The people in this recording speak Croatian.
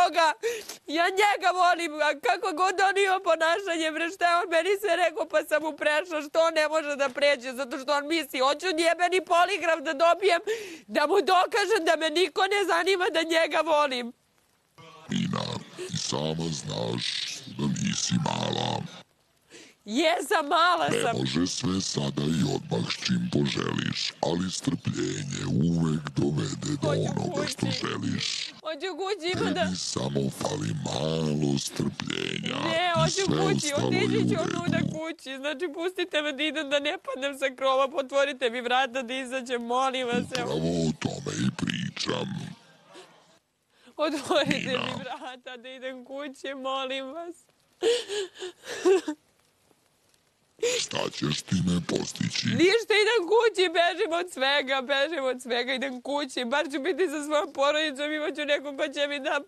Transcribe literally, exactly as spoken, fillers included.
toga. Ja njega volim, a kako god on ima ponašanje, bre, šta je on meni sve rekao, pa sam mu prešla, što on ne može da pređe, zato što on misli, hoću njebeni poligraf da dobijem, da mu dokažem da me niko ne zanima, da njega volim. Nina, i sama znaš da nisi mala. Jesam, mala sam. Ne može sve sada i odmah s čim poželiš, ali strpljenje uvek dovede do onoga što želiš. Hoću kući, ima da... Tebi samo fali malo strpljenja. Ne, i hoću sve kući, ostalo je otići u ću redu. onuda kući. Znači, pustite me da idem, da ne padnem sa krova, potvorite mi vrata da izađem, molim vas. Upravo o tome i pričam. Otvorite Nina. mi vrata da idem kući, molim vas. Šta ćeš time postići? Ništa, idem kući, bežim od svega, bežim od svega, idem kući. Bar ću biti sa svojom porodicom, imaću nekog ko će mi da